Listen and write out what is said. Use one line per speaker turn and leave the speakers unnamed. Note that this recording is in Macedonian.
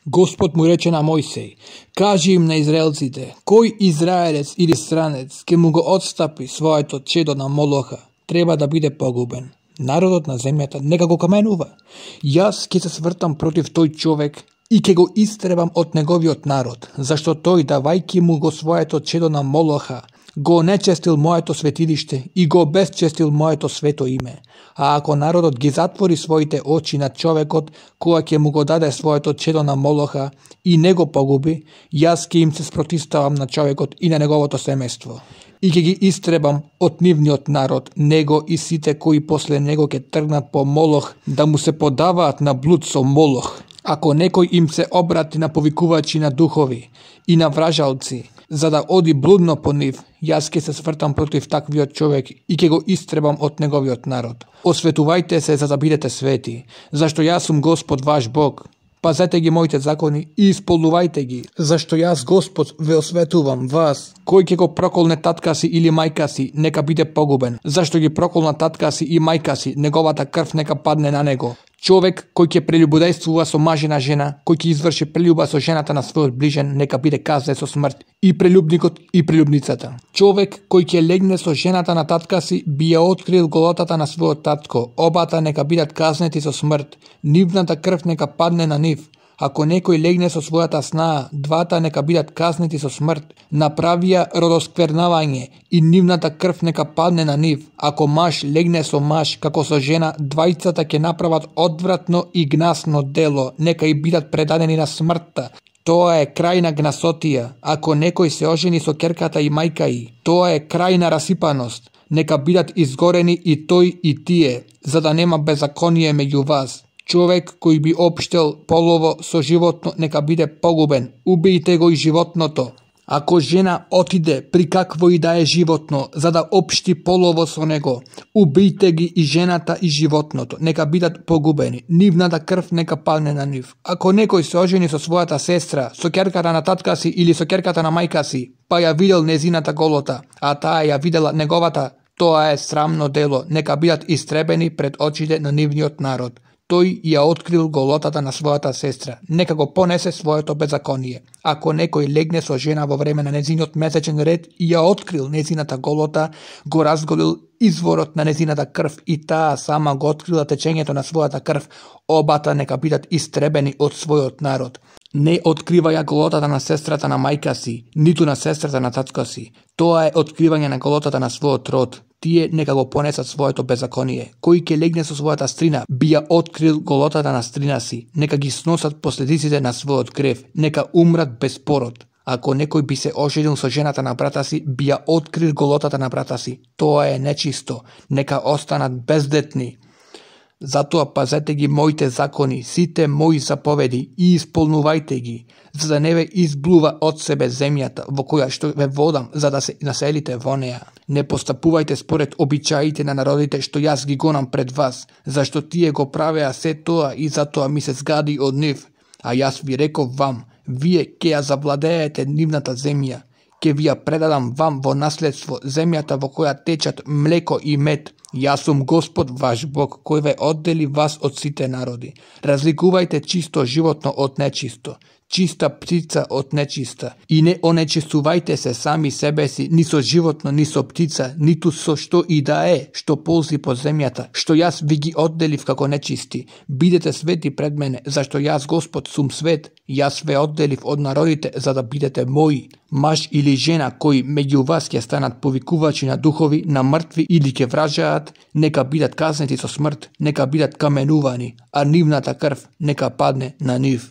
Господ му рече на Мојсей: кажи им на израелците, кој израелец или странец ке му го отстапи своето чедо на Молоха, треба да биде погубен. Народот на земјата нека го каменува. Јас ќе се свртам против тој човек и ќе го истребам од неговиот народ, зашто тој, давајќи му го своето чедо на Молоха, го нечестил моето светилиште и го безчестил моето свето име. А ако народот ги затвори своите очи на човекот која ќе му го даде своето чедо на Молоха и не го погуби, јас ќе им се спротивставам на човекот и на неговото семејство. И ќе ги истребам од нивниот народ, него и сите кои после него ќе тргнат по Молох да му се подаваат на блуд со Молох. Ако некој им се обрати на повикувачи на духови и на вражалци, за да оди блудно по нив, јас ќе се свртам против таквиот човек и ќе го истребам од неговиот народ. Осветувајте се за да бидете свети, зашто јас сум Господ ваш Бог. Пазете ги моите закони и исполнувајте ги, зашто јас Господ ве осветувам вас. Кој ќе го проколне татка си или мајка си, нека биде погубен, зашто ги проколна татка си и мајка си, неговата крв нека падне на него. Човек кој ќе прелюбодејствува со мажена жена, кој ќе изврши прелюба со жената на својот ближен, нека биде казнет со смрт, и прелюбникот и прелюбницата. Човек кој ќе легне со жената на татка си, би ја открил голотата на својот татко, обата нека бидат казнети со смрт, нивната крв нека падне на нив. Ако некој легне со својата снаа, двата нека бидат казнети со смрт. Направија родосквернавање и нивната крв нека падне на нив. Ако маж легне со маж, како со жена, двајцата ќе направат одвратно и гнасно дело, нека и бидат предадени на смртта. Тоа е крајна гнасотија. Ако некој се ожени со ќерката и мајка и, тоа е крајна расипаност. Нека бидат изгорени и тој и тие, за да нема беззаконие меѓу вас. Човек кој би општел полово со животно нека биде погубен. Убијте го и животното. Ако жена отиде при какво и да е животно, за да општи полово со него, убијте ги и жената и животното, нека бидат погубени. Нивната крв нека падне на нив. Ако некој се ожени со својата сестра, со ќерката на татка си или со ќерката на мајка си, па ја видел незината голота, а таа ја видела неговата, тоа е срамно дело, нека бидат истребени пред очите на нивниот народ. Тој ја открил голотата на својата сестра, нека го понесе своето беззаконие. Ако некој легне со жена во време на незиниот месечен ред и ја открил незината голота, го разголил изворот на незината крв и таа сама го открила течењето на својата крв, обата нека бидат истребени од својот народ. Не откриваја голотата на сестрата на мајка си, ниту на сестрата на татко си. Тоа е откривање на голотата на својот род. Тие нека го понесат своето беззаконие. Кој ќе легне со својата стрина, би ја открил голотата на стрина си. Нека ги сносат последиците на својот грев. Нека умрат без пород. Ако некој би се оженил со жената на брата си, би ја открил голотата на брата си. Тоа е нечисто. Нека останат бездетни. Затоа пазете ги моите закони, сите мои заповеди и исполнувајте ги, за да не ве изблува од себе земјата во која што ве водам, за да се населите во неа. Не постапувајте според обичаите на народите што јас ги гонам пред вас, зашто тие го правеа се тоа и затоа ми се згади од нив. А јас ви реков вам, вие ќе ја завладеете нивната земја, ќе ви ја предадам вам во наследство земјата во која течат млеко и мед. Јас сум Господ ваш Бог, кој ве оддели вас од сите народи. Разликувајте чисто животно од нечисто, чиста птица од нечиста, и не онечистувајте се сами себе си, ни со животно, ни со птица, ниту со што и да е, што ползи по земјата, што јас ви ги одделив како нечисти. Бидете свети пред мене, зашто јас Господ сум свет, јас ве одделив од народите за да бидете мои. Маж или жена кои меѓу вас ќе станат повикувачи на духови, на мртви или ќе вражаат, нека бидат казнети со смрт, нека бидат каменувани, а нивната крв нека падне на нив.